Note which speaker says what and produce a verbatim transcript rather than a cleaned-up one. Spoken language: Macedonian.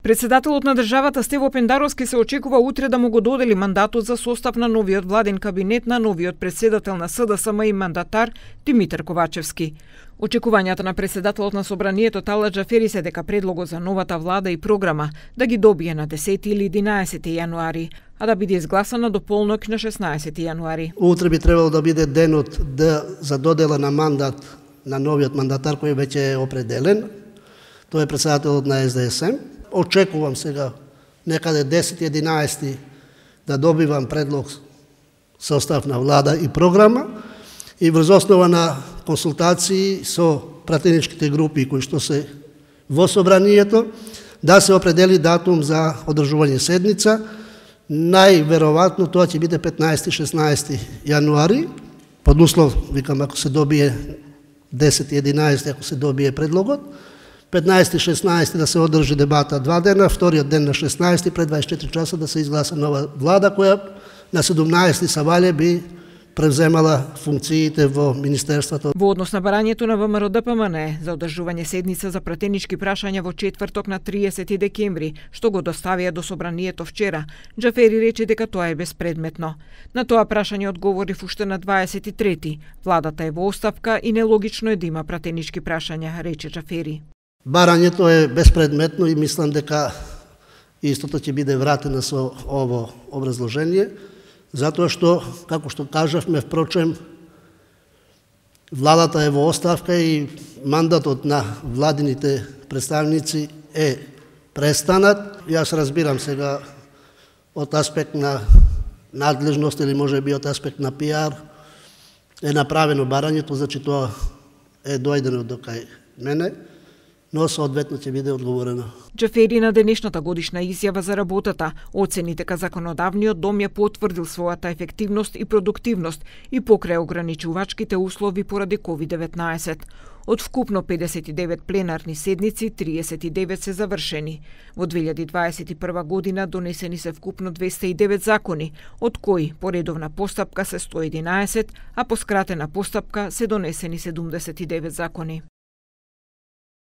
Speaker 1: Председателот на државата Стево Пендаровски се очекува утре да му го додели мандатот за состав на новиот владин кабинет на новиот председател на СДСМ и мандатар Димитар Ковачевски. Очекувањата на председателот на собранието Талат Џафери се дека предлогот за новата влада и програма да ги добие на десети или единаесети јануари, а да биде изгласана до полнок на шеснаесети јануари.
Speaker 2: Утре би требало да биде денот да за додела на мандат на новиот мандатар кој веќе е определен. Тој е председателот на СДСМ. Очекувам сега некаде десети единаесети да добивам предлог состав на влада и програма и врз основа на консултации со пратеничките групи кои што се во собранието да се определи датум за одржување седница. Најверојатно тоа ќе биде петнаесети шеснаесети јануари, под услов, викам, ако се добие десети единаесети, ако се добие предлогот, петнаесети шеснаесети да се одржи дебата два дена, вториот ден на шеснаесети пред дваесет и четири часа да се изгласа нова влада која на седумнаесети савале би превземала функциите во министерството.
Speaker 1: Во однос на барањето на ВМРО Д П М Н за одржување седница за пратенички прашања во четврток на триесети декември, што го доставија до собранието вчера, Џафери рече дека тоа е безпредметно. На тоа прашање одговори уште на дваесет и трети. Владата е во оставка и нелогично е да има пратенички прашања, рече Џафери.
Speaker 2: Барањето е безпредметно и мислам дека истото ќе биде вратено со ово образложение, затоа што, како што кажавме, впрочем, владата е во оставка и мандатот на владините представници е престанат. Јас разбирам сега од аспект на надлежност или може би од аспект на пиар е направено барањето, значи тоа е дојдено до кај мене, но соодветно ќе биде одговорено.
Speaker 1: Џафери на денешната годишна изјава за работата оцени дека законодавниот дом ја потврдил својата ефективност и продуктивност и покрај ограничувачките услови поради ковид деветнаесет. Од вкупно педесет и девет пленарни седници, триесет и девет се завршени. Во две илјади дваесет и прва година донесени се вкупно двесте и девет закони, од кои по редовна постапка се сто и единаесет, а по скратена постапка се донесени седумдесет и девет закони.